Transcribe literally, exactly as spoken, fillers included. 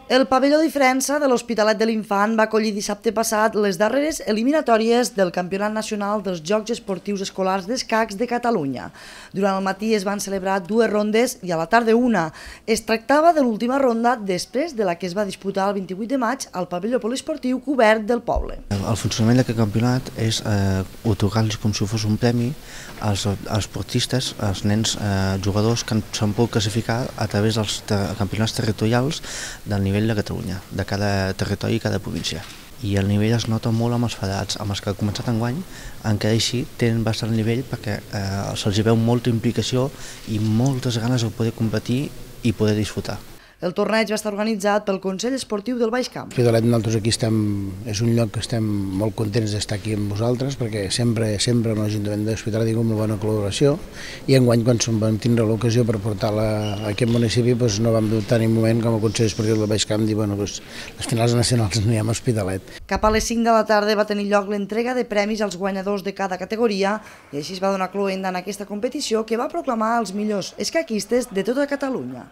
El pavelló Diferença de l'Hospitalet de l'Infant va acollir dissabte passat les darreres eliminatòries del Campionat Nacional dels Jocs Esportius Escolars d'Escacs de Catalunya. Durant el matí es van celebrar dues rondes i a la tarda una. Es tractava de l'última ronda després de la que es va disputar el vint-i-vuit de maig al pavelló poliesportiu cobert del poble. El funcionament d'aquest campionat és eh, otorgar-los com si fos un premi als, als esportistes, als nens eh, jugadors que s'han pogut classificar a través dels ter campionats territorials del nivell de Catalunya, de cada territori i cada província. I el nivell es nota molt amb els federats, amb els que ha començat enguany, encara així tenen bastant nivell perquè eh, se'ls veu molta implicació i moltes ganes de poder competir i poder disfrutar. El torneig va estar organitzat pel Consell Esportiu del Baix Camp. L'Hospitalet, nosaltres aquí estem, és un lloc que estem molt contents d'estar aquí amb vosaltres perquè sempre sempre amb l'Ajuntament de l'Hospitalet hi ha una bona col·laboració i enguany quan vam tindre l'ocasió per portar-la a aquest municipi doncs no vam dubtar ni un moment com a Consell Esportiu del Baix Camp dir bueno, doncs, les finals nacionals no hi ha a Hospitalet. Cap a les cinc de la tarda va tenir lloc l'entrega de premis als guanyadors de cada categoria i així es va donar cloenda en aquesta competició que va proclamar els millors escaquistes de tota Catalunya.